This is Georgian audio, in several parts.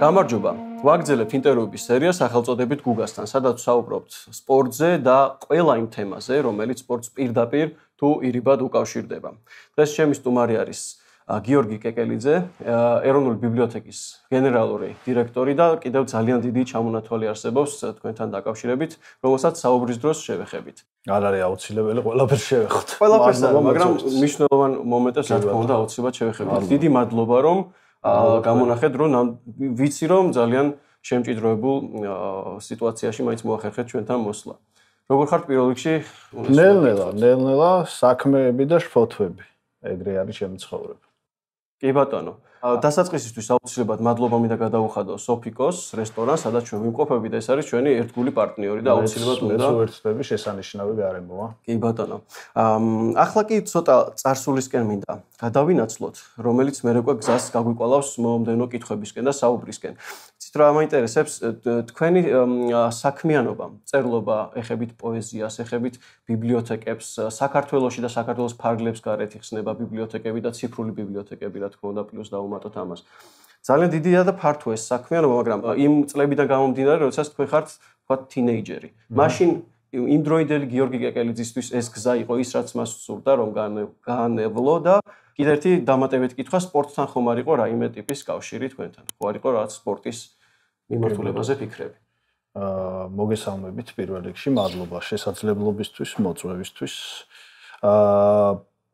გამარჯობა. ვაგრძელებთ ინტერვიუების სერიას სახელწოდებით გუგასთან, სადაც საუბრობთ სპორტზე და ყველა იმ თემაზე, რომელიც სპორტს პირდაპირ თუ ირიბად უკავშირდება. დღეს ჩემი სტუმარი არის გიორგი კეკელიძე, ეროვნული ბიბლიოთეკის გენერალური დირექტორი და კიდევ ძალიან დიდი ჩამონათვალი არსებობს თქვენთან დაკავშირებით, რომელსაც საუბრის დროს შევეხებით. არ არის აუცილებელი ყველაფერს შევეხოთ. ყველაფერს, მაგრამ მნიშვნელოვან მომენტებს რა თქმა უნდა აუცილებლად შევეხებით. დიდი მადლობა რომ გამონახეთ, რომ ვიცი რომ ძალიან შემჭიდროებულ სიტუაციაში მაინც მოახერხეთ ჩვენთან მოსვლა. როგორ ხართ პირველ რიგში? ნელ-ნელა საქმეები და შფოთვები. ეგრე არის ჩემი ცხოვრება. კი ბატონო. დასაწყისისთვის აუცილებლად მადლობა მინდა გადაუხადო სოფიკოს რესტორანს, სადაც ჩვენ ვიმყოფებით, ეს არის ჩვენი ერთგული პარტნიორი და აუცილებლად უნდა ვერთდები შესანიშნავი გარემოა. კი ბატონო. ახლა კი ცოტა წარსულისკენ მინდა გადავინაცვლოთ, რომელიც მერეკვე გზას გაგვიკვალავს მომდევნო კითხვებისკენ და საუბრისკენ. იცით რა მაინტერესებს თქვენი საქმიანობა, წერლობა, ეხებით პოეზიას, ეხებით ბიბლიოთეკებს, საქართველოში და საქართველოს ფარგლებს გარეთ იხსნება ბიბლიოთეკები და ციფრული ბიბლიოთეკები, რა თქმა უნდა, პლუს დავუმატოთ ამას. ძალიან დიდია და ფართოა ეს საქმიანობა, მაგრამ იმ წლებიდან გამომდინარე, როდესაც თქვენ ხართ, ვთქვათ, თინეიჯერი. მაშინ იმ დროინდელი გიორგი კეკელიძისთვის ეს გზა იყო ის, რაც მას სურდა, რომ გაანევლო და კიდევ ერთი დამატებით კითხვა, სპორტთან ხომ არ იყო რაიმე ტიპის კავშირი თქვენთან? ხო არ იყო რაღაც სპორტის მიმართულებაზე ფიქრები? მოგესალმებით პირველ რიგში, მადლობა შესაძლებლობისთვის, მოწვევისთვის.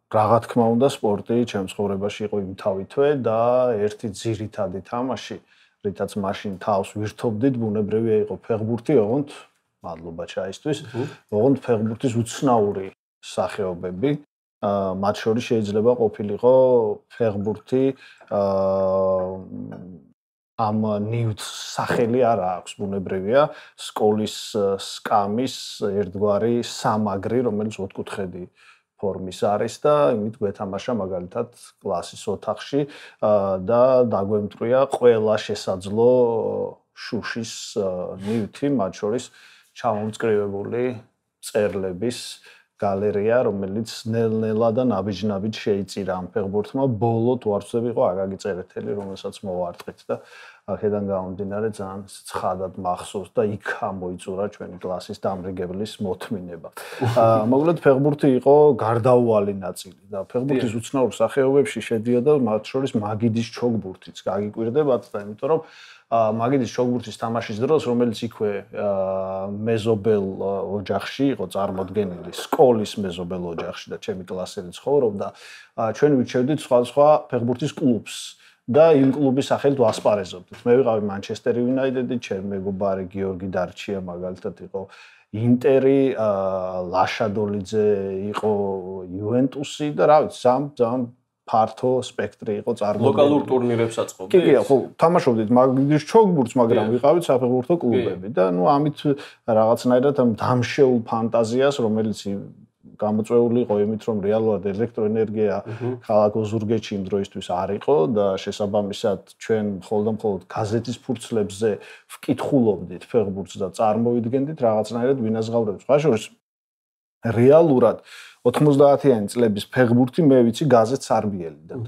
Რა თქმა უნდა, სპორტი ჩემს ცხოვრებაში იყო იმთავითვე და ერთი ძირითადი თამაში, რითაც მაშინ თავს ვირთობდით, ბუნებრივია იყო ფეხბურთი, ოღონდ მადლობა ჩაისთვის, ოღონდ ფეხბურთის უცნაური სახეობები. მათ შორის შეიძლება ყოფილიყო ფეხბურთი ამ ნიუტს სახელი არ აქვს, ბუნებრივია, სკოლის სკამის ერთგვარი სამაგრი, რომელიც ოთხკუთხედი ფორმის არის და იმით გვეთამაშა მაგალითად კლასის ოთახში და დაგვემტრია ყველა შესაძლო შუშის ნივთი, მათ შორის ჩამომწკრივებული წერლების გალერეა, რომელიც ნელ-ნელა და ნაბიჯ-ნაბიჯ შეიწირა ამ ფეხბურთმა. ბოლო თუ არ ვცდები იყო აგაგი წერეთელი, რომელსაც მოვარტყით და აქედან გამომდინარე ძალიან ცხადად მახსოვს და იქ ამოიწურა ჩვენი კლასის დამრიგებლის მოთმინება. მოკლედ ფეხბურთი იყო გარდაუვალი ნაწილი და ფეხბურთის უცნაურ სახეობებში შედიოდა მათ შორის მაგიდის ჩოგბურთიც. გაგიკვირდებათ და იმიტომ რომ მაგიდის ჩოგბურთის თამაშის დროს, რომელიც იქვე მეზობელ ოჯახში იყო წარმოდგენილი, სკოლის მეზობელ ოჯახში და ჩემი კლასელი ცხოვრობდა, ჩვენ ვირჩევდით სხვადასხვა ფეხბურთის კლუბს. და იმ კლუბის სახელით ვასპარეზობდით. მე ვიყავი მანჩესტერ იუნაიტედი, ჩემი მეგობარი გიორგი დარჩია მაგალითად იყო ინტერი, ლაშადოლიძე იყო იუვენტუსი და რა ვიცი, ძალიან ფართო სპექტრი იყო წარმოდგენილი. ლოკალურ ტურნირებს აწყობდით? კი, ხო, თამაშობდით მაგის ჩოგბურთს, მაგრამ ვიყავით საფეხბურთო კლუბები და ნუ ამით რაღაცნაირად ამ დამშეულ ფანტაზიას, რომელიც გამოწვეული იყო იმით, რომ რეალურად ელექტროენერგია ქალაქ ოზურგეთში იმ დროისთვის არ იყო და შესაბამისად ჩვენ მხოლოდ გაზეთის ფურცლებზე ვკითხულობდით ფეხბურთს და წარმოვიდგენდით რაღაცნაირად ვინაზღავრებს. ხაშორის რეალურად 90-იანი წლების ფეხბურთი მე ვიცი გაზეთს არბიელიდან.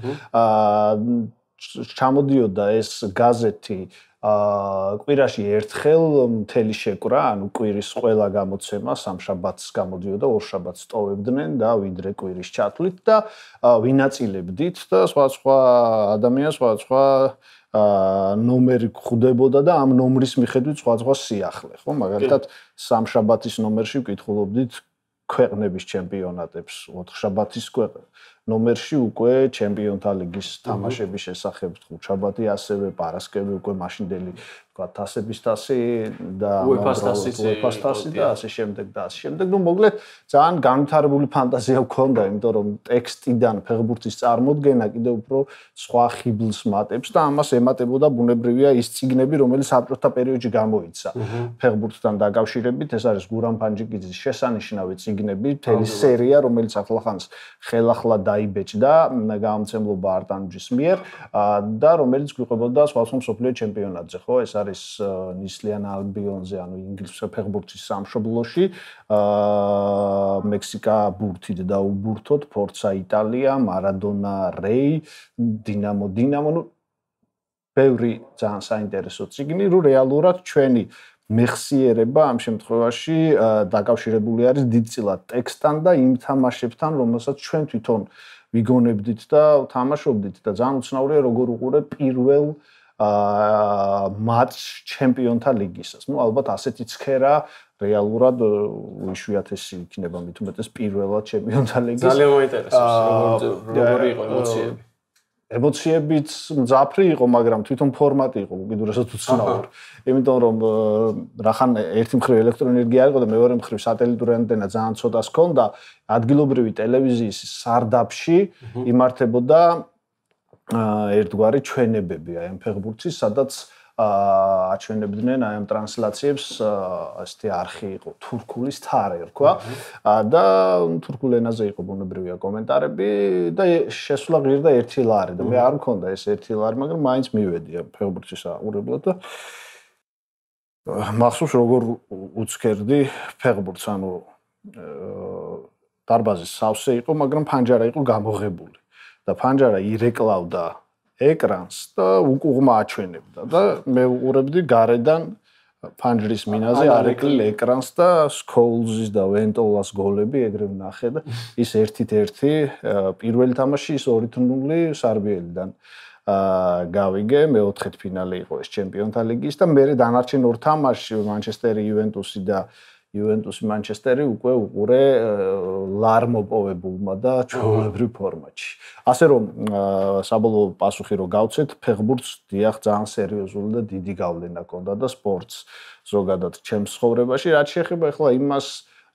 ჩამოდიოდა ეს გაზეთი კვირაში ერთხელ მთელი შეკვრა, ანუ კვირის ყველა გამოცემა სამშაბათს გამოდიოდა, ორშაბათს ტოვებდნენ და ვიდრე კვირის ჩათვლით და ვინაწილებდით და სხვა ადამიანს სხვა ნომერი გვხვდებოდა და ამ ნომრის მიხედვით სხვა სიახლე, ხო? მაგალითად სამშაბათის ნომერში ვკითხულობდით ქვეყნების ჩემპიონატებს, ოთხშაბათის ნომერში უკვე ჩემპიონთა ლიგის თამაშების შესახებ, ხუთშაბათი ასევე, პარასკევი უკვე მაშინდელი თასების თასი და UEFA-ს თასი და ასე შემდეგ და ასე შემდეგ. ნუ მოკლედ ძალიან განვითარებული ფანტაზია გვქონდა, იმიტომ რომ ტექსტიდან ფეხბურთის წარმოდგენა კიდევ უფრო სხვა ხიბლს მატებს და ამას ემატებოდა ბუნებრივია ის წიგნები, რომელიც საბჭოთა პერიოდში გამოიცა ფეხბურთთან დაკავშირებით. ეს არის გურამ ფანჯიკიძის შესანიშნავი წიგნები, მთელი სერია, რომელიც ახლახანს ხელახლა დაიბეჭდა გამომცემლობა არტანჯის მიერ და რომელიც გვიყვებოდა სხვადასხვა მსოფლიო ჩემპიონატზე, ხო? ეს არის ნისლიან ალბიონზე, ანუ ინგლისის ფეხბურთის სამშობლოში, მექსიკა ბურთით დაუბურთოთ, ფორცა იტალია, მარადონა რეი, დინამო, ნუ ბევრი ძალიან საინტერესო წიგნი, რომ რეალურად ჩვენი მეხსიერება ამ შემთხვევაში დაკავშირებული არის დიდწილად ტექსტთან და იმ თამაშებთან, რომელსაც ჩვენ თვითონ ვიგონებდით და თამაშობდით და ძალიან უცნაურია როგორ უყურებ პირველ მატჩ ჩემპიონთა ლიგისას. ნუ ალბათ ასეთი ცქერა რეალურად უიშვიათესი იქნება მით უმეტეს პირველად ჩემპიონთა ლიგის. ძალიან მაინტერესებს როგორი იყო ემოციები. ემოციებიც მძაფრი იყო, მაგრამ თვითონ ფორმატი იყო უკიდურესად უცნაური. იმიტომ რომ რახან ერთი მხრივ ელექტროენერგია იყო და მეორე მხრივ სატელიტური ანტენა ძალიან ცოტას ჰქონდა, ადგილობრივი ტელევიზიის სარდაფში იმართებოდა ერთგვარი ჩვენებები აი ამ ფეხბურთის, სადაც აჩვენებდნენ აი ამ ტრანსლაციებს, ასეთი არხი იყო თურქულის თარე რქვა და თურქულ ენაზე იყო ბუნებრივია კომენტარები და შესვლა ღირდა 1 ლარი და მე არ მქონდა ეს 1 ლარი, მაგრამ მაინც მივედი ამ ფეხბურთის აყურებლად და მახსოვს როგორ უცქერდი ფეხბურთს, ანუ დარბაზის სავსე იყო, მაგრამ ფანჯარა იყო გამოღებული და ფანჯარა ირეკლავდა ეკრანს და უკუღმა აჩვენებდა და მე უყურებდი გარედან ფანჯრის მინაზე არეკლილ ეკრანს და სკოულზის და ვენტოლას გოლები ეგრე ვნახე და ის 1-1 პირველი თამაში ის 2-0 სარბიელიდან გავიგე, მეოთხედ ფინალი იყო ეს ჩემპიონთა ლიგის და მე დანარჩენ ორ თამაშში მანჩესტერი იუვენტუსი და იუვენტუსი მანჩესტერი უკვე უყურე ლარ მოპოვებულმა და ჩვეულებრივ ფორმატში. ასე რომ საბოლოო პასუხი რო გავცეთ, ფეხბურთს დიახ ძალიან სერიოზული და დიდი გავლენა ჰქონდა და სპორტს ზოგადად ჩემს ცხოვრებაში, რაც შეეხება ახლა იმას,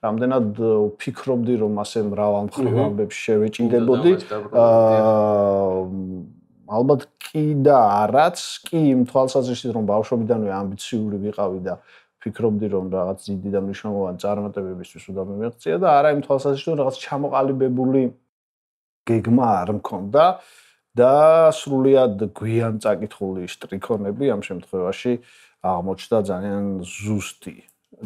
რამდენად ვფიქრობდი, რომ ასე მრავალ მხრივ ამბებში შევეჭიდებოდი. ალბათ კი და არაც, კი იმ თვალსაზრისით, რომ ბავშვობიდანვე ამბიციური ვიყავი და ფიქრობდი რომ რაღაც დიდი და მნიშვნელოვანი წარმატებებისთვის უნდა მიმეღწია და არა იმ თვალსაზრისით რომ რაღაც ჩამოყალიბებული გეგმა არ მქონდა და სრულიად გვიან წაკითხული შტრიქონები ამ შემთხვევაში აღმოჩნდა ძალიან ზუსტი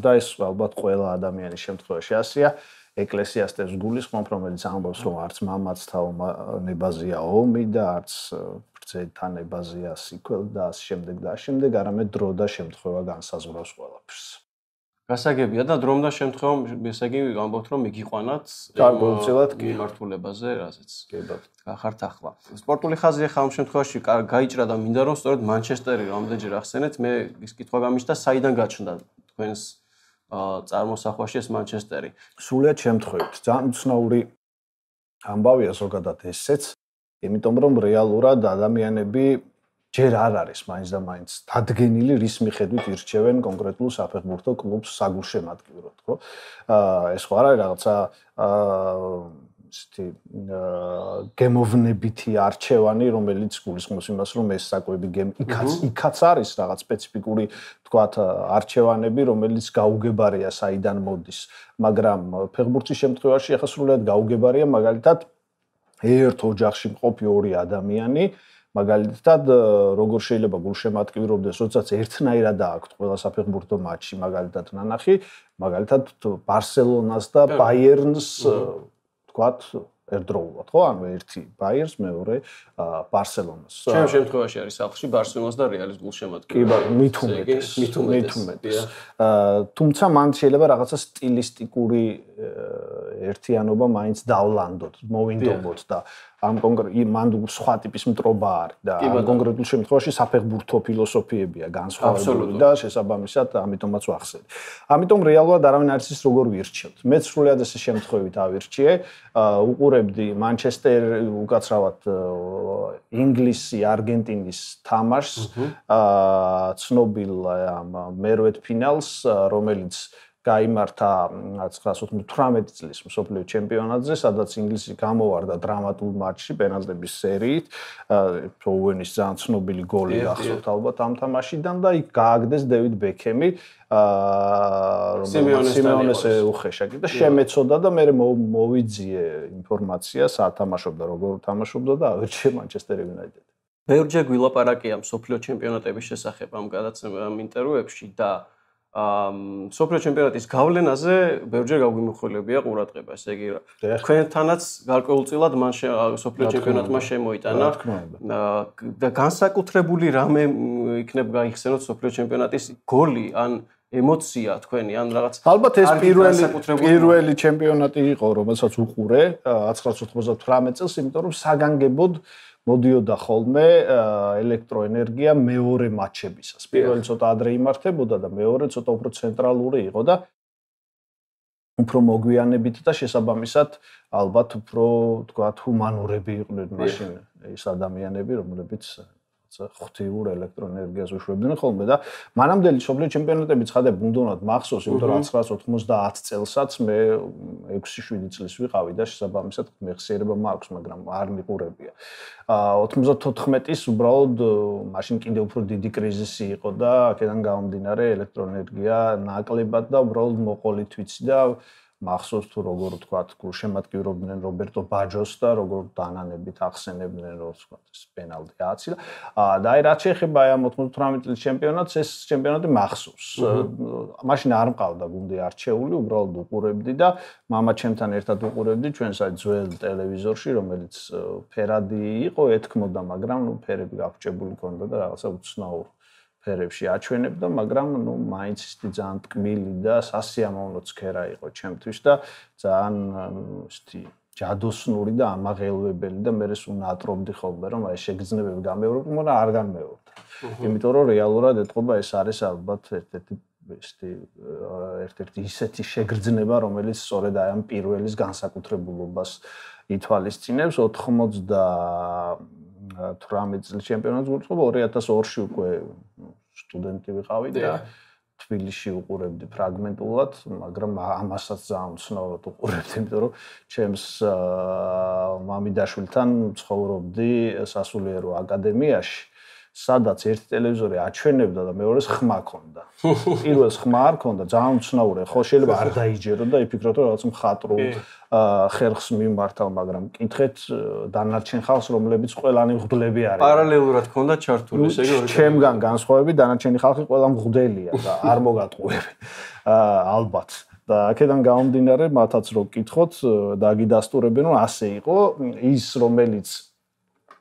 და ეს ალბათ ყველა ადამიანის შემთხვევაში ასეა. ეკლესიასტეს გულისხმობ, რომელიც ამბობს რომ არც მამაც თაობნებაზია ომი და არც ბრძენთან ნებაზია სიკველ და ამ შემდეგ და ამ შემდეგ, არამედ დრო და შემთხვევა განსაზღვრავს ყველაფერს. გასაგებია და დრომ და შემთხვევა, ესე იგი ამბობთ რომ მიგიყვანათ მიმართულებაზე, რაზეც გახართ ახლა. სპორტული ხაზი ახლა ამ შემთხვევაში გაიჭრა და მინდა რომ სწორედ მანჩესტერი რამდენჯერ ახსენეთ, მე ის კითხვა გამიჩნდა, საიდან გაჩნდა თქვენს წარმოსახვაში ეს მანჩესტერი. სრულიად შემთხვევით, ძალიან უცნაური ამბავია ზოგადად ესეც, იმიტომ რომ რეალურად ადამიანები ჯერ არ არის მაინც და მაინც დადგენილი რის მიხედვით ირჩევენ კონკრეტულ საფეხბურთო კლუბს საგულშემატკივროდ, ხო? ეს ხო არ არის რაღაცა ისეთი გემოვნებითი არჩევანი, რომელიც გულისხმობს იმას, რომ ეს საკვები იქაც არის რაღაც სპეციფიკური, თქვათ, არჩევანები, რომელიც გაუგებარია საიდან მოდის, მაგრამ ფეხბურთის შემთხვევაში ახლა სრულიად გაუგებარია, მაგალითად, ერთ ოჯახში მყოფი ორი ადამიანი, მაგალითად, როგორ შეიძლება გულშემატკივრობდეს, როდესაც ერთნაირად აქვთ ყველა საფეხბურთო მატჩი, მაგალითად, ნანახი, მაგალითად, ბარსელონას და ბაიერნს თქვათ ერთდროულად, ხო? ანუ ერთი ბაიერს, მეორე ბარსელონას. ჩემ შემთხვევაში არის სახლში ბარსელონას და რეალის გულშემატკივარი. კი, მით უმეტეს. თუმცა მან შეიძლება რაღაცა სტილისტიკური ერთიანობა მაინც დავლანდოთ, მოვინდომოთ და ამ მან სხვა ტიპის მტრობა არის და ამ კონკრეტულ შემთხვევაში საფეხბურთო ფილოსოფიებია განსხვავებული და შესაბამისად ამიტომაც ვახსენე. ამიტომ რეალურად არავინ არ იცის როგორ ვირჩევთ. მეც სრულიად ესე შემთხვევით ავირჩიე, უყურებდი მანჩესტერ უკაცრავად ინგლისი, არგენტინის თამაშს, ცნობილ მერვედ ფინალს, რომელიც გაიმართა 1998 წლის მსოფლიო ჩემპიონატზე, სადაც ინგლისი გამოვარდა დრამატულ მატჩში პენალტების სერიით. ოუენის ძალიან ცნობილი გოლი გახსოვთ ალბათ ამ თამაშიდან და იქ გააგდეს დევიდ ბექემი, რომელიც სიმეონეს უხეშა და შემეცოდა და მე მოვიძიე ინფორმაცია, სათამაშობდა, როგორ თამაშობდა და ავირჩიე მანჩესტერ იუნაიტედი. ბევრჯერ გვილაპარაკია მსოფლიო ჩემპიონატების შესახებ ამ ინტერვიუებში და სოფლიო ჩემპიონატის გავლენაზე ბევრჯერ გაგვიმახვილებია ყურადღება, ესე იგი თქვენთანაც გარკვეულწილად მან სოფლიო ჩემპიონატმა შემოიტანა და განსაკუთრებული რამე იქნებ გაიხსენოთ სოფლიო ჩემპიონატის გოლი ან ემოცია თქვენი ან რაღაც ალბათ ეს პირველი ჩემპიონატი იყო რომელსაც უყურე 1998 წელს იმიტომ რომ საგანგებოდ მოდიოდა ხოლმე ელექტროენერგია მეორე მატჩებისას. პირველი ცოტა ადრე იმართებოდა და მეორე ცოტა უფრო ცენტრალური იყო და უფრო მოგვიანებით და შესაბამისად ალბათ უფრო თქვათ ჰუმანურები იყვნენ მაშინ ეს ადამიანები რომლებიც ღვთიურ ელექტროენერგიას უშვებდნენ ხოლმე და მანამდელი სოფლიო ჩემპიონატები ცხადებ უნდათ მახსოვს იმიტომ რომ 1990 წელსაც მე 6-7 წლის ვიყავი და შესაბამისად მეხსიერება მაქვს მაგრამ არ მიყურებია 94-ის უბრალოდ მაშინ კიდევ უფრო დიდი კრიზისი იყო და აქედან გამომდინარე ელექტროენერგია ნაკლებად და უბრალოდ მოყოლით ვიცი და მახსოვს თუ როგორ ვთქვათ გულშემატკივრობდნენ რობერტო ბაჯოს და როგორ დანანებით ახსენებდნენ რომ ვთქვათ ეს პენალტი ააცილა და აი რაც შეეხება აი 98 წლის ჩემპიონატს ეს ჩემპიონატი მახსოვს მაშინ არ მყავდა გუნდი არჩეული უბრალოდ უყურებდი და მამაჩემთან ერთად უყურებდი ჩვენს აი ძველ ტელევიზორში რომელიც ფერადი იყო ეთქმოდა მაგრამ ნუ ფერები გაფუჭებული ქონდა და რაღაცა უცნაურ ფერებში აჩვენებდა, მაგრამ ნუ მაინც ისეთი ძალიან ტკბილი და სასიამოვნო ცქერა იყო ჩემთვის და ძალიან ისეთი ჯადოსნური და ამაღელვებელი და მე ეს უნატრობდი ხოლმე რომ აი შეგრძნებები გამეორებდი, მაგრამ არ განმეორდა. იმიტომ რომ რეალურად ეთყობა ეს არის ალბათ ერთ-ერთი ისეთი შეგრძნება, რომელიც სწორედ აი ამ პირველის განსაკუთრებულობას ითვალისწინებს 98 წლის ჩემპიონატს გულწრფობა 2002-ში უკვე სტუდენტი ვიყავი და თბილისში უყურებდი ფრაგმენტულად, მაგრამ ამასაც ძალიან უცნაურად უყურებდი, იმიტომ რომ ჩემს მამიდაშვილთან ცხოვრობდი სასულიერო აკადემიაში, სადაც ერთი ტელევიზორი აჩვენებდა და მეორეს ხმა ქონდა. პირველს ხმა არ ქონდა, ძალიან უცნაურია, ხო შეიძლება არ დაიჯერო და იფიქროთ რომ რაღაც მხატვრულ ხერხს მიმართავ, მაგრამ კითხეთ დანარჩენ ხალხს, რომლებიც ყველანი მღვდლები არიან. პარალელურად ქონდა ჩართული, ესე იგი ორი. ჩემგან განსხვავებით დანარჩენი ხალხი ყველა მღვდელია და არ მოგატყუები. ალბათ. და აქედან გამომდინარე, მათაც რო კითხოთ, დაგიდასტურებენ, რომ ასე იყო, ის რომელიც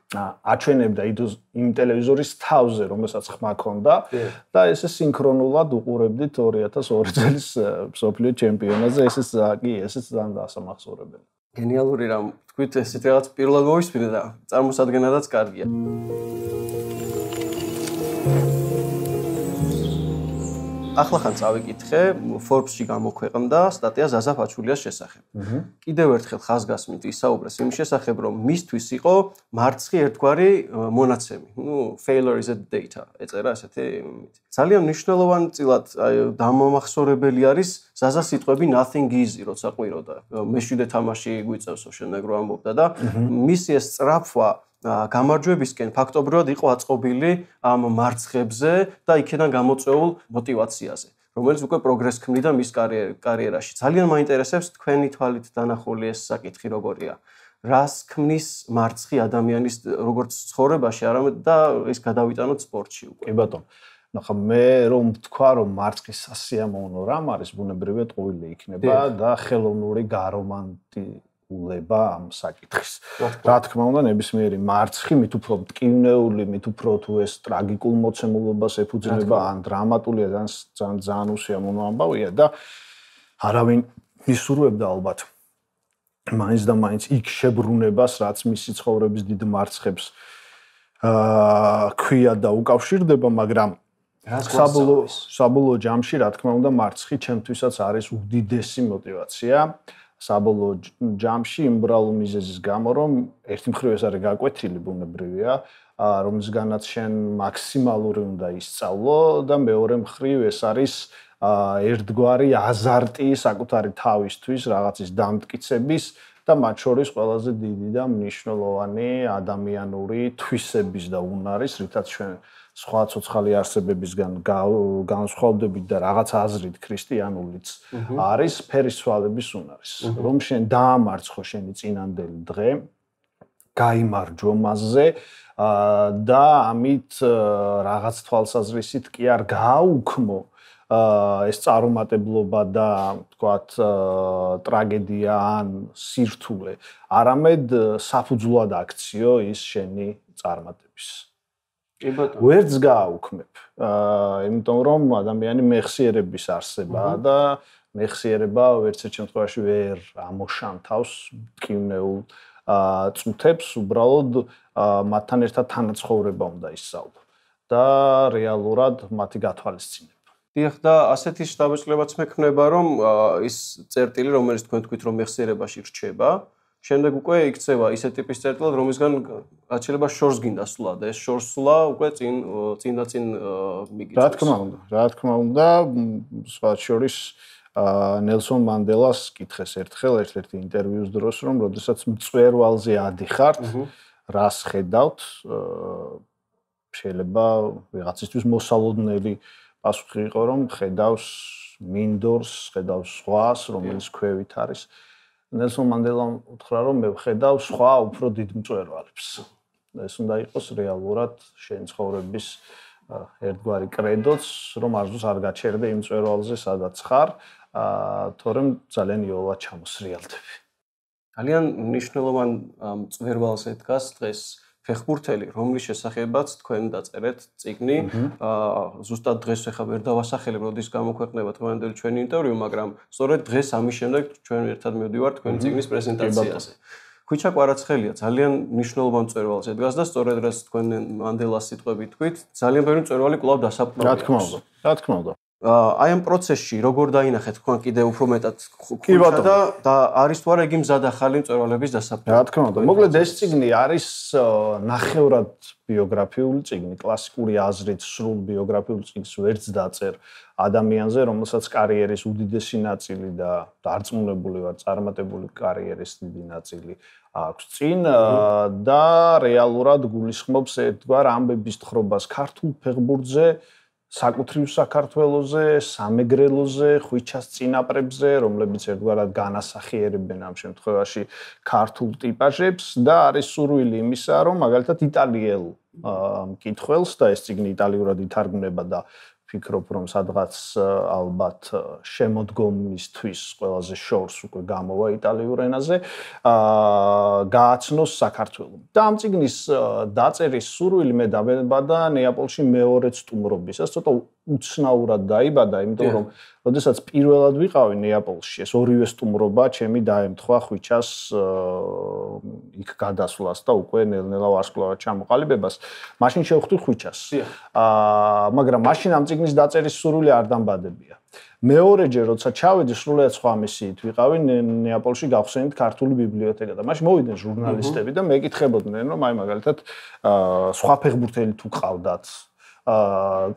აჩვენებდა იმ ტელევიზორის თავზე, რომელსაც ხმა ქონდა და ესე სინქრონულად უყურებდით 2002 წლის მსოფლიო ჩემპიონატზე, ესეც ძალიან დასამახსოვრებელი. გენიალური რამ თქვით, ესეთ რაღაც პირველად მოვისმინე და წარმოსადგენადაც კარგია. ახლა ხან წავიკითხე, Forbes-ში გამოქვეყნდა სტატია ზაზა ფაჩულიას შესახებ. კიდევ ერთხელ ხაზგასმით ისაუბრეს იმ შესახებ, რომ მისთვის იყო მარცხი ერთგვარი მონაცემი. Failure is a data. ეწერა ესეთი. ძალიან მნიშვნელოვანი წილად დამამახსოვრებელი არის ზაზას სიტყვები nothing easy, როცა ყვიროდა. მეშვიდე თამაში გვიწევსო შენაგრო ამბობდა და მისი ეს სწრაფვა გამარჯვებისკენ ფაქტობრივად იყო აწყობილი ამ მარცხებზე და იქიდან გამოწვეულ мотиваციაზე, რომელიც უკვე პროგრესს ქმნიდა მის კარიერაში. ძალიან მაინტერესებს თქვენი თვალით დანახული ეს საკითხი როგორია. რას ქმნის მარცხი ადამიანის როგორც ცხოვრებაში, არამედ და ეს გადავიტანოთ სპორტში უკვე. კი ბატონო. ნახა მე რომ ვთქვა რომ მარცხი სასიამოვნო რამ არის, ბუნებრივია ტყუილი იქნება და ხელოვნური გარომანტიკულება ამ საკითხის. რა თქმა უნდა, ნებისმიერი მარცხი მით უფრო მტკივნეული, მით უფრო თუ ეს ტრაგიკულ მოცემულობას ეფუძნება ან დრამატულია, ძალიან უსიამოვნო ამბავია და არავინ მისურვებდა ალბათ მაინც და მაინც იქ შებრუნებას, რაც მისი ცხოვრების დიდ მარცხებს ქვია და უკავშირდება, მაგრამ საბოლოო ჯამში, რა თქმა უნდა, მარცხი ჩემთვისაც არის უდიდესი мотиваცია. საბოლოო ჯამში იმ ბრალ მიზეზის გამო, რომ ერთი მხრივ ეს არის გაკვეთილი ბუნებრივია, რომისგანაც შენ მაქსიმალური უნდა ისწავლო და მეორე მხრივ ეს არის ერთგვარი აზარტი საკუთარი თავისთვის, რაღაცის დამტკიცების და მათ შორის ყველაზე დიდი და მნიშვნელოვანი ადამიანური თვისების და უნარის, რითაც ჩვენ სხვა ცოცხალი არსებებისგან განსხვავდებით და რაღაც აზრით ქრისტიანულიც არის ფერისცვალების უნარის. რომ შენ დაამარცხო შენი წინანდელი დღე, გაიმარჯვო მასზე და ამით რაღაც თვალსაზრისით კი არ გააუქმო ეს წარუმატებლობა და თქვათ ტრაგედია ან სირთულე, არამედ საფუძვლად აქციო ის შენი წარმატების. კი ბატონო. ვერც გააუქმებ. იმიტომ რომ ადამიანი მეხსიერების არსებაა და მეხსიერება ვერცერთ შემთხვევაში ვერ ამოშამთავს მტკივნეულ წუთებს, უბრალოდ მათთან ერთად თანაცხოვრება უნდა ისწავლო და რეალურად მათი გათვალისწინება. დიახ და ასეთი შთაბეჭდილებაც მექნება, რომ ის წერტილი, რომელიც თქვენ თქვით, რომ მეხსიერებაში რჩება, შემდეგ უკვე იქცევა ისეთი ტიპის წერტილად, რომისგან რაც შეიძლება შორს გინდა სვლა და ეს შორს სვლა უკვე წინ მიგიწევს. რა თქმა უნდა, სხვა შორის ნელსონ მანდელას კითხეს ერთხელ ერთ-ერთი ინტერვიუს დროს, რომ როდესაც მწვერვალზე ადიხართ, რას ხედავთ, შეიძლება ვიღაცისთვის მოსალოდნელი პასუხი იყო, რომ ხედავს მინდორს, ხედავს ზღვას, რომელიც ქვევით არის. ნელსონ მანდელამ უთხრა, რომ მე ვხედავ სხვა უფრო დიდ მწვერვალებს. ეს უნდა იყოს რეალურად შენ ცხოვრების ერთგვარი კრედოც, რომ არასდროს არ გაჩერდე იმ მწვერვალზე, სადაც ხარ, თორემ ძალიან იოლად ჩამოსრიალდები. ძალიან მნიშვნელოვან მწვერვალზე დგას დღეს ფეხბურთელი, რომლის შესახებაც თქვენ დაწერეთ წიგნი. ზუსტად დღეს ახლა ვერ დავასახელებ, როდის გამოქვეყნება დღევანდელი ჩვენი ინტერვიუ, მაგრამ სწორედ დღეს ამის შემდეგ ჩვენ ერთად მივდივართ თქვენი წიგნის პრეზენტაციაზე. ხვიჩა კვარაცხელია ძალიან მნიშვნელოვან მწვერვალზე დგას და სწორედ რაც თქვენ მანდელას სიტყვებით თქვით, ძალიან ბევრი მწვერვალი კვლავ დასაბრუნდა. რა თქმა უნდა. აი ამ პროცესში როგორ დაინახეთ თქვენ კიდევ უფრო მეტად ხვიჩა და არის თუ არა იგი მზად ახალი მწვერვალების დასაბრუნებლად? რა თქმა უნდა. მოკლედ ეს წიგნი არის ნახევრად ბიოგრაფიული წიგნი, კლასიკური აზრით სრულ ბიოგრაფიული წიგნს ვერც დაწერ ადამიანზე, რომელსაც კარიერის უდიდესი ნაწილი და დარწმუნებული ვარ, წარმატებული კარიერის დიდი ნაწილი აქვს წინ და რეალურად გულისხმობს ერთგვარ ამბების თხრობას ქართულ ფეხბურთზე, საკუთრივ საქართველოზე, სამეგრელოზე, ხვიჩას წინაპრებზე, რომლებიც ერთგვარად განასახიერებენ ამ შემთხვევაში ქართულ ტიპაჟებს და არის სურვილი იმისა, რომ მაგალითად იტალიელ მკითხველს და ეს წიგნი იტალიურად ითარგმნება და ვფიქრობ, რომ სადღაც ალბათ შემოდგომისთვის ყველაზე შორს უკვე გამოვა იტალიურ ენაზე, გააცნოს საქართველოს. და ამ წიგნის დაწერის სურვილი მე დამებადა ნეაპოლში მეორე სტუმრობისას, ცოტა უცნაურად დაიბადა, იმიტომ რომ როდესაც პირველად ვიყავი ნეაპოლში, ეს ორივე სტუმრობა ჩემი დაემთხვა ხვიჩას იქ გადასვლას და უკვე ნელ-ნელა ვარსკვლავად ჩამოყალიბებას. მაშინ შევხვდი ხვიჩას. მაგრამ მაშინ ამ წიგნის დაწერის სურვილი არ დამბადებია. მეორეჯერ როცა ჩავედი, სრულიად სხვა მისიით ვიყავი ნეაპოლში გავხსენით ქართული ბიბლიოთეკა და მაშინ მოვიდნენ ჟურნალისტები და მეკითხებოდნენ, რომ აი მაგალითად სხვა ფეხბურთელი თუ ყავდათ,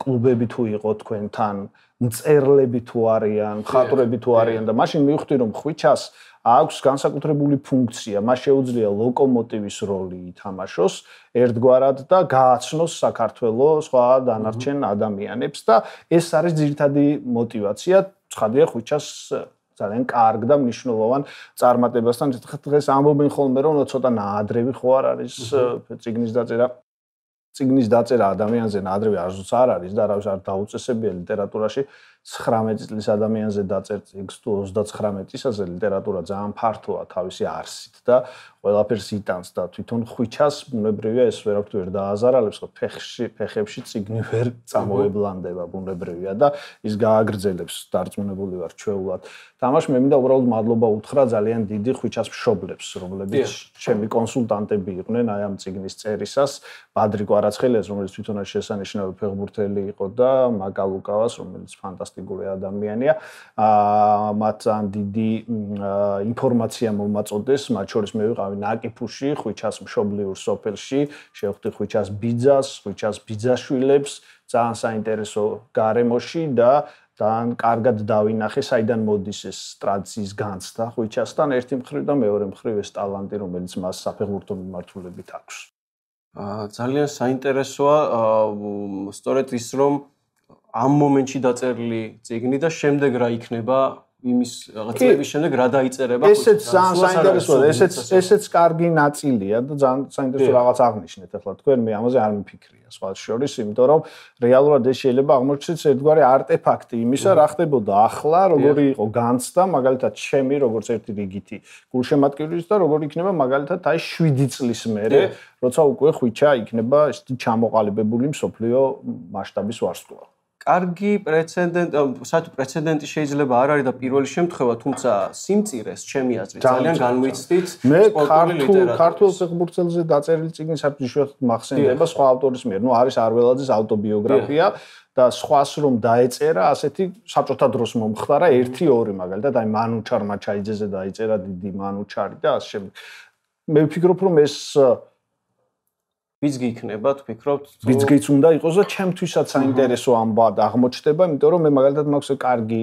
კლუბები თუ იყო თქვენთან, მწერლები თუ არიან, მხატვრები თუ არიან და მაშინ მივხვდი, რომ ხვიჩას აქვს განსაკუთრებული ფუნქცია, მას შეუძლია ლოკომოტივის როლი ითამაშოს ერთგვარად და გააცნოს საქართველოს სხვა დანარჩენ ადამიანებს და ეს არის ძირითადი мотиваცია ცხადია ხვიჩას ძალიან კარგ და მნიშვნელოვან წარმატებასთან დღეს ამბობენ ხოლმე რომ ცოტა ნაადრევი ხო არ არის წიგნის დაწერა ადამიანზე ნაადრევი არც არ არის და არავის არ დაუწესებია ლიტერატურაში 19 წლის ადამიანზე დაწერ წიგნს თუ 39 წლისაზე ლიტერატურა ძალიან ფართოა თავისი არსით და ყველაფერს იტანს და თვითონ ხვიჩას ბუნებრივია ეს ვერაფრით ვერ დააზარალებს ხო ფეხებში წიგნი ვერ წამოებლანდება ბუნებრივია და ის გააგრძელებს დარწმუნებული ვარ ჩვეულად თამაში მე მინდა უბრალოდ მადლობა უთხრა ძალიან დიდი ხვიჩას მშობლებს რომლებიც ჩემი კონსულტანტები იყვნენ აი ამ წიგნის წერისას ბადრი კვარაცხელიას რომელიც თვითონ შესანიშნავი ფეხბურთელი იყო და მაგა ლუკავას რომელიც ფანტასტიკური ადამიანია მათ ძალიან დიდი ინფორმაცია მომაწოდეს მათ შორის მე ვიყავი ნაკიფუში ხვიჩას მშობლიურ სოფელში შევხვდი ხვიჩას ბიძას ხვიჩას ბიძაშვილებს ძალიან საინტერესო გარემოში და ძალიან კარგად დავინახე საიდან მოდის ეს ტრადიციის განცდა ხვიჩასთან ერთი მხრივ და მეორე მხრივ ეს ტალანტი რომელიც მას საფეხბურთო მიმართულებით აქვს ძალიან საინტერესოა სწორედ ის რომ ამ მომენტში დაწერილი წიგნი და შემდეგ რა იქნება იმის რაღაც წლების შემდეგ რა დაიწერება ესეც ძალიან საინტერესოა ესეც კარგი ნაწილია და ძალიან საინტერესო რაღაც აღნიშნეთ ახლა თქვენ მე ამაზე არ მიფიქრია სხვა შორის იმიტომ რომ რეალურად ეს შეიძლება აღმოჩნდეს ერთგვარი არტეფაქტი იმისა რა ხდებოდა ახლა როგორი იყო განცდა მაგალითად ჩემი როგორც ერთი რიგითი გულშემატკივრის და როგორი იქნება მაგალითად აი 7 წლის მერე როცა უკვე ხვიჩა იქნება ესეთი ჩამოყალიბებული მსოფლიო მასშტაბის ვარსკვლავი კარგი პრეცედენტი შეიძლება არ არის და პირველი შემთხვევა, თუმცა სიმწირეს ჩემი აზრით ძალიან განვიცდით მე ქართულ ფეხბურთელზე დაწერილი წიგნი საფრთხეში მახსენდება სხვა ავტორის მიერ. ნუ არის არველაძის ავტობიოგრაფია და სხვას რომ დაეწერა, ასეთი საბჭოთა დროს მომხდარა 1-2 მაგალითად, აი მანუჩარ მაჩაიძეზე დაეწერა დიდი მანუჩარი და ასე შემდეგ. მე ვფიქრობ რომ ეს ვიძგი იქნება, თქვით, ვიძგიც უნდა იყოს და ჩემთვისაც საინტერესო ამბავად აღმოჩნდება, იმიტომ რომ მე მაგალითად მაქვს კარგი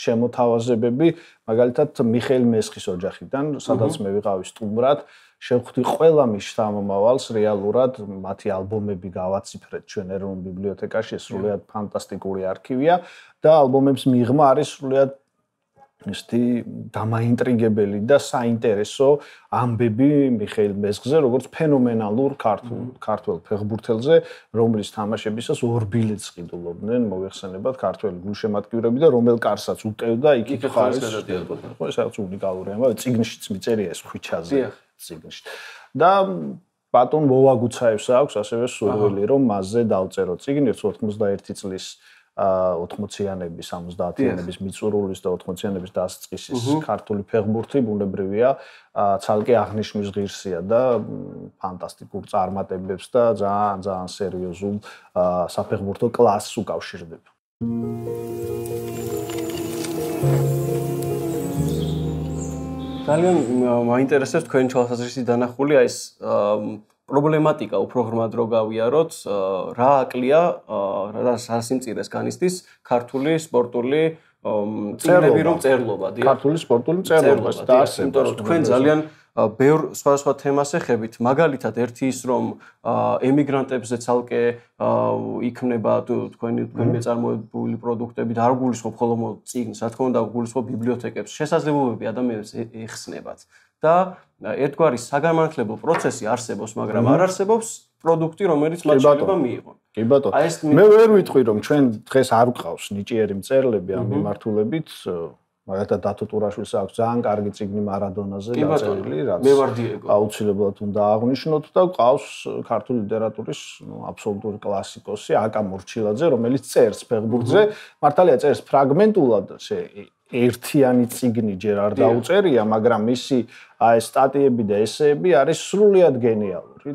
შემოთავაზებები, მაგალითად მიხეილ მესხის ოჯახიდან, სადაც მე ვიყავი სტუმრად, შევხვდი ყველა მის შთამომავალს რეალურად, მათი ალბომები გავაციფრეთ ჩვენ ეროვნულ ბიბლიოთეკაში, ეს სრულიად ფანტასტიკური არქივია და ალბომებს მიღმა არის სრულიად ისეთი დამაინტრიგებელი და საინტერესო ამბები მიხეილ მესხზე, როგორც ფენომენალურ ქართველ ფეხბურთელზე, რომლის თამაშებისას 2 ბილეთს ყიდულობდნენ, მოიხსენებათ ქართველი გულშემატკივრები და რომელ კარსაც უტევდა, იქ ხარის. ხო, ეს რაღაც უნიკალური ამბავი, წიგნშიც მიწერია ეს ხვიჩაზე, წიგნში. და ბატონ მოვაგუცაევს აქვს ასევე სურვილი, რომ მასზე დავწერო წიგნი 91 წლის 80-იანების, 70-იანების მიწურულის და 80-იანების დასაწყისის ქართული ფეხბურთი ბუნებრივია, ცალკე აღნიშვნის ღირსია და ფანტასტიკურ წარმატებებს და ძალიან სერიოზულ საფეხბურთო კლასს უკავშირდება. ძალიან მაინტერესებს თქვენი თვალსაზრისით დანახული აი ეს პრობლემატიკა უფრო ღრმად რო გავიაროთ, რა აკლია, რა სიმწირეს განიცდის ქართული სპორტული წიგნები რომ წერლობა, დიახ. ქართული სპორტული წერლობა და ასე. იმიტომ რომ თქვენ ძალიან ბევრ სხვადასხვა თემას ეხებით, მაგალითად ერთი ის რომ ემიგრანტებზე ცალკე იქნება თქვენი მეწარმოებული პროდუქტები და არ გულისხმობ ხოლმე წიგნს, რა თქმა უნდა გულისხმობ ბიბლიოთეკებს, შესაძლებლობები ადამიანებს ეხსნებათ. და ერთგვარი საგანმანათლებლო პროცესი არსებობს, მაგრამ არ არსებობს პროდუქტი, რომელიც მათ შეიძლება მიიღონ. კი ბატონო. მე ვერ ვიტყვი რომ ჩვენ დღეს არ გვყავს ნიჭიერი მწერლები ამ მიმართულებით, მაგალითად დათო ტურაშვილს აქვს ძალიან კარგი წიგნი მარადონაზე დაწერილი, რაც მე ვარ დიეგო. აუცილებლად უნდა აღვნიშნოთ და გვყავს ქართული ლიტერატურის აბსოლუტური კლასიკოსი აკა მორჩილაძე, რომელიც წერს ფეხბურთზე, მართალია წერს ფრაგმენტულად, ერთიანი წიგნი ჯერ არ დაუწერია, მაგრამ მისი აი სტატიები და ესეები არის სრულიად გენიალური.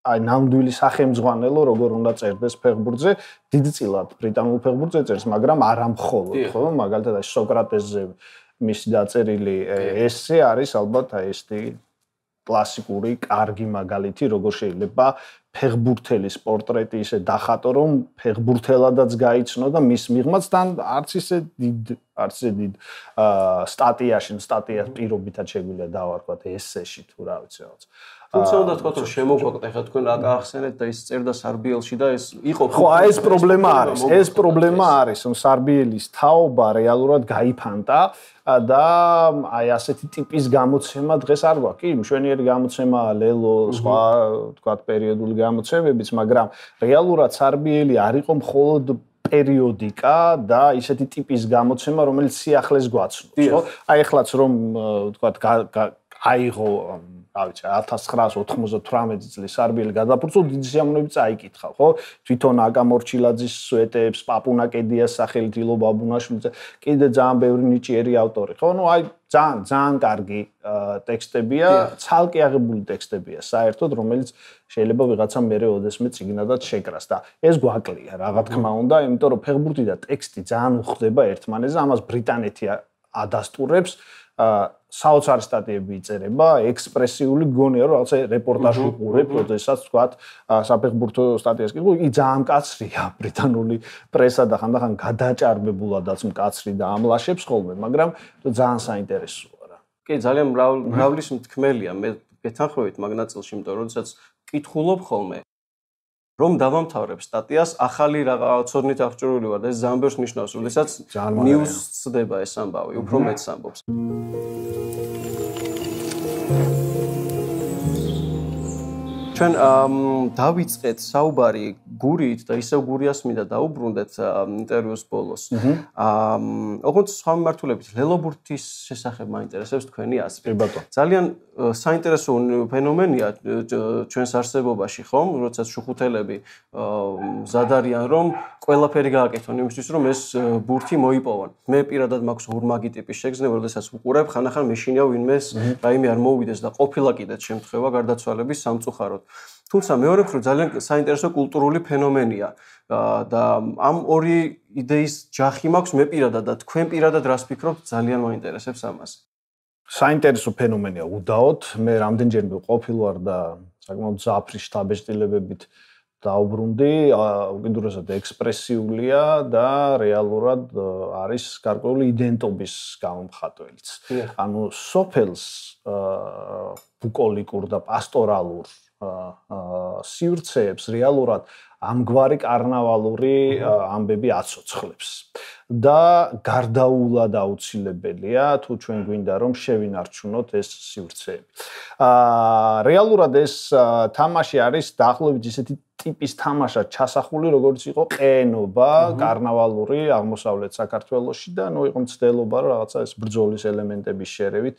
აი ნამდვილი სახელმძღვანელო როგორ უნდა წერდეს ფეხბურთზე, დიდწილად ბრიტანულ ფეხბურთზე წერს, მაგრამ არა მხოლოდ, ხო? მაგალითად აი სოკრატესზე მისი დაწერილი ესე არის ალბათ აი ესეთი კლასიკური, კარგი მაგალითი, როგორ შეიძლება ფეხბურთელის პორტრეტი ისე დახატო, რომ ფეხბურთელადაც გაიცნო და მის მიღმაც თან არც ისე დიდ სტატიას პირობითად შეგვიძლია დავარქვათ ესეში თუ რა ვიცი რაღაც. თუმცა უნდა თქვა რომ შემოგვაკლეთ ახლა თქვენ აკახსენეთ და ის წერდა სარბიელში და ეს იყო ხო აი ეს პრობლემა არის ეს პრობლემა არის რომ სარბიელის თაობა რეალურად გაიფანტა და აი ასეთი ტიპის გამოცემა დღეს არ გვაქვს კი მშვენიერი გამოცემა ლელო სხვა თქვათ პერიოდული გამოცემებიც მაგრამ რეალურად სარბიელი არ იყო მხოლოდ პერიოდიკა და ისეთი ტიპის გამოცემა რომელიც სიახლეს გვაცნობს ხო აი ეხლაც რომ თქვათ აიღო რა ვიცი 1998 წლის სარბიელი გადაფურცო დიდი სიამოვნებით წაიკითხა ხო თვითონ აკა მორჩილაძის სვეტებს პაპუნა კედიას სახელით ილო ბაბუნაშვილზე კიდე ძალიან ბევრი ნიჭიერი ავტორი ხო ნუ აი ძალიან კარგი ტექსტებია ცალკე აღებული ტექსტებია საერთოდ რომელიც შეიძლება ვიღაცა მერე ოდესმე წიგნადად შეკრას და ეს გვაკლია რა თქმა უნდა იმიტომ რომ ფეხბურთი და ტექსტი ძალიან უხდება ერთმანეთზე ამას ბრიტანეთი ადასტურებს საოცარი სტატიები იწერება, ექსპრესიული გონია, რომ რაღაცა რეპორტაჟი უყურებ, როდესაც თქვათ, საფეხბურთო სტატიას კი, იგი ძალიან მკაცრია, ბრიტანული პრესა და ხანდახან გადაჭარბებულადაც მკაცრი და ამლაშებს ხოლმე, მაგრამ ძალიან საინტერესოა რა. კი, ძალიან მრავლის მთქმელია, მე გეთანხმებით მაგ ნაწილში, იმიტომ რომ როდესაც კითხულობ ხოლმე რომ დავამთავრებ სტატიას, ახალი რაღაც ცოდნით აღჭურვილი ვარ და ეს ძალიან ბევრს ნიშნავს, როდესაც news ცდება ეს ამბავი, უფრო მეც ამბობს. ჩვენ დავიწყეთ საუბარი გურით და ისევ გურიას მინდა დაუბრუნდეთ ინტერვიუს ბოლოს. ოღონდ სხვა მიმართულებით ლელობურთის შესახებ მაინტერესებს თქვენი აზრი. ძალიან საინტერესო ფენომენია ჩვენს არსებობაში, ხომ? როდესაც შუხუთელები მზად არიან, რომ ყველაფერი გააკეთონ იმისთვის, რომ ეს ბურთი მოიპოვონ. მე პირადად მაქვს ორმაგი ტიპის შეგრძნება, როდესაც ვუყურებ, ხანახან მეშინია ვინმეს რაიმე არ მოუვიდეს და ყოფილა კიდეც შემთხვევა გარდაცვალების სამწუხაროდ. თუმცა მეორე მხრივ ძალიან საინტერესო კულტურული ფენომენია და ამ ორი იდეის ჯახი მაქვს მე პირადად და თქვენ პირადად რას ფიქრობთ ძალიან მაინტერესებს ამაზე. საინტერესო ფენომენია უდაოდ, მე რამდენჯერმე ყოფილ ვარ და საკმაოდ ზაფრი შთაბეჭდილებებით დაუბრუნდი, უკიდურესად ექსპრესიულია და რეალურად არის გარკვეული იდენტობის გამომხატველიც. ანუ სოფელს ბუკოლიკურ და პასტორალურ სივრცეებს რეალურად ამგვარი კარნავალური ამბები აცოცხლებს და გარდაულად აუცილებელია თუ ჩვენ გვინდა რომ შევინარჩუნოთ ეს სივრცეები. რეალურად ეს თამაში არის დაახლოებით ისეთი ტიპის თამაშად ჩასახული, როგორც იყო ყენობა კარნავალური აღმოსავლეთ საქართველოში და ნუ იყო მცდელობა რომ რაღაცა ეს ბრძოლის ელემენტების შერევით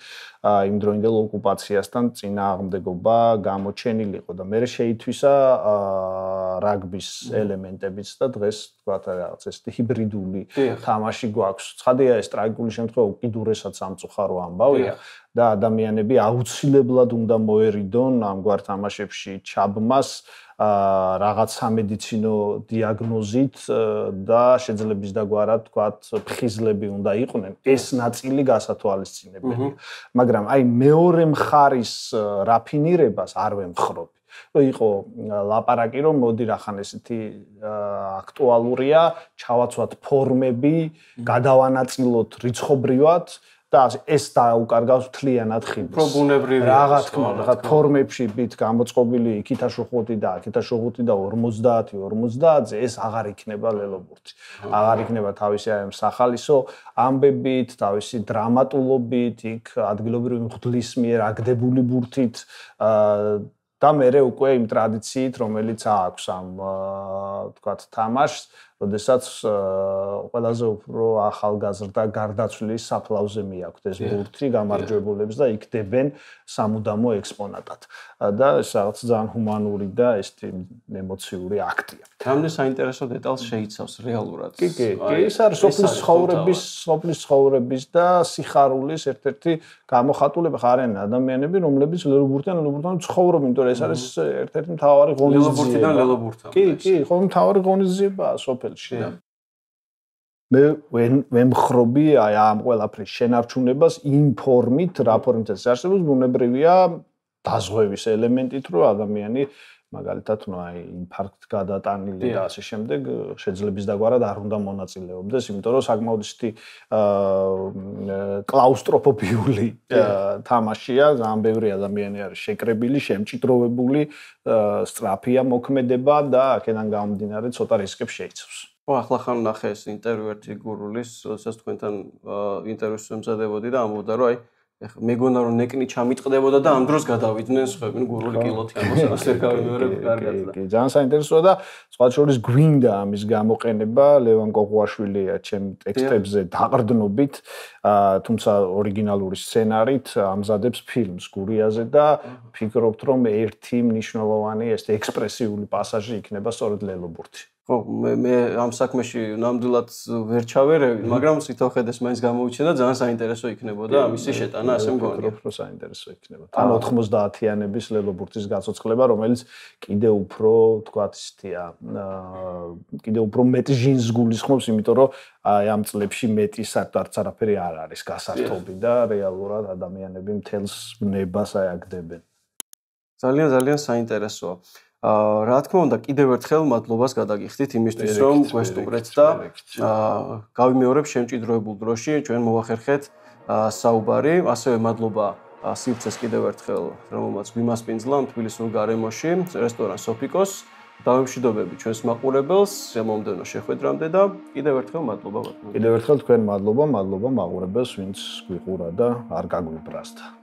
იმდროინდელ ოკუპაციასთან წინააღმდეგობა გამოჩენილიყო და მე შეითვისა რაგბის ელემენტებიც და დღეს თქვათ რაღაც ეს ჰიბრიდული თამაში გვაქვს. ცხადია ეს ტრაგიკული შემთხვევა უკიდურესად სამწუხარო ამბავია და ადამიანები აუცილებლად უნდა მოერიდონ ამგვარ თამაშებში ჩაბმას რაღაც სამედიცინო დიაგნოზით და შეძლების დაგვარად თქვათ ფხიზლები უნდა იყვნენ ეს ნაწილი გასათვალისწინებელია მაგრამ აი მეორე მხარის რაფინირებას არ ვემხრობ რომ იყო ლაპარაკი რომ მოდი რახან ესეთი აქტუალურია ჩავაცვათ ფორმები გადავანაწილოთ რიცხობრივად და ეს დაუკარგავს თლიანად ხიბლს. პრობუნებრივი რა თქმა უნდა, ფორმებში ბით გამოწყობილი იქითა შუხუთი და აქითა შუხუთი და 50-50-ზე ეს აღარ იქნება ლელობურთი. აღარ იქნება თავისი აი სახალისო ამბებით, თავისი დრამატულობით, იქ ადგილობრივი მღვდლის მიერ აგდებული ბურთით და მერე უკვე იმ ტრადიციით, რომელიც აქვს ამ თქვათ თამაშს, როდესაც ყველაზე უფრო ახალგაზრდა გარდაცვლილის საფლავზე მიაქვთ ეს ბურთი გამარჯვებულებს და იქდებენ სამუდამო ექსპონატად. და ეს რაღაც ძალიან ჰუმანური და ეს ემოციური აქტია. რამდენ საინტერესო დეტალს შეიცავს რეალურად. კი, ეს არის სოფლის ცხოვრების და სიხარულის ერთ-ერთი გამოხატულება ხარიან ადამიანები, რომლებიც ლელობურთიდან ცხოვრობენ, იმიტომ რომ ეს არის ერთ-ერთი მთავარი ღონისძიება. ლელობურთიდან ლელობურთამდე. კი, ხომ მთავარი ღონისძიებაა სოფელში და მე ვემხრობი აი ამ ყველაფრის შენარჩუნებას იმ ფორმით, რა ფორმითაც არსებობს, ბუნებრივია დაზღვევის ელემენტით, რომ ადამიანი მაგალითად, ნუ აი ინფარქტ გადატანილი და ასე შემდეგ შეძლების დაგვარად არ უნდა მონაწილეობდეს, იმიტომ რომ საკმაოდ ისეთი კლაუსტროფობიული თამაშია, ძალიან ბევრი ადამიანი არის შეკრებილი, შემჭიდროვებული, სწრაფია მოქმედება და აქედან გამომდინარე ცოტა რისკებს შეიცავს. ახლა ხან ნახე ეს ინტერვიუ ერთი გურულის, როდესაც თქვენთან ინტერვიუს ემზადებოდი და ამბობდა რომ აი მეგონა რომ ნეკნი ჩამიტყდებოდა და ამ დროს გადავიდნენ სხვები გურული კილოთი ამას ვერ გავიმეორებ კარგად და კი ძალიან საინტერესოა და სხვა შორის გვინდა ამის გამოყენება ლევან კოღუაშვილია ჩემ ტექსტებზე დაყრდნობით თუმცა ორიგინალური სცენარით ამზადებს ფილმს გურიაზე და ფიქრობთ რომ ერთი მნიშვნელოვანი ეს ექსპრესიული პასაჟი იქნება სწორედ ლელობურთი ხო მე ამ საქმეში ნამდვილად ვერ ჩავერევი, მაგრამ სიტყვახედეს მაინც გამოუჩნდა ძალიან საინტერესო იქნებოდა ამისი შეტანა, ასე მგონია. ვფიქრობ, რომ საინტერესო იქნება. თან 90-იანების ლელობურთის გაცოცხლება, რომელიც კიდე უფრო, თქვათ, ისეთია, კიდე უფრო მეტ ჟინს გულისხმობს, იმიტომ რომ აი ამ წლებში მეტი საერთოდ არაფერი არ არის გასართობი და რეალურად ადამიანები მთელს ნებას ააგდებენ. ძალიან საინტერესოა. რა თქმა უნდა, კიდევ ერთხელ მადლობას გადაგიხდით იმისთვის, რომ გვესტუმრეთ და გავიმეორებ შემჭიდროებულ დროში ჩვენ მოვახერხეთ საუბარი. ასევე მადლობა სივრცეს კიდევ ერთხელ, რომელმაც გვიმასპინძლა თბილისურ გარემოში, რესტორან სოფიკოს დავემშვიდობები ჩვენს მაყურებელს შემომდენო შეხვედრამდე და კიდევ ერთხელ მადლობა ბატონო. კიდევ ერთხელ თქვენ მადლობა მაყურებელს, ვინც გვიყურა და არ გაგვიბრაზდა.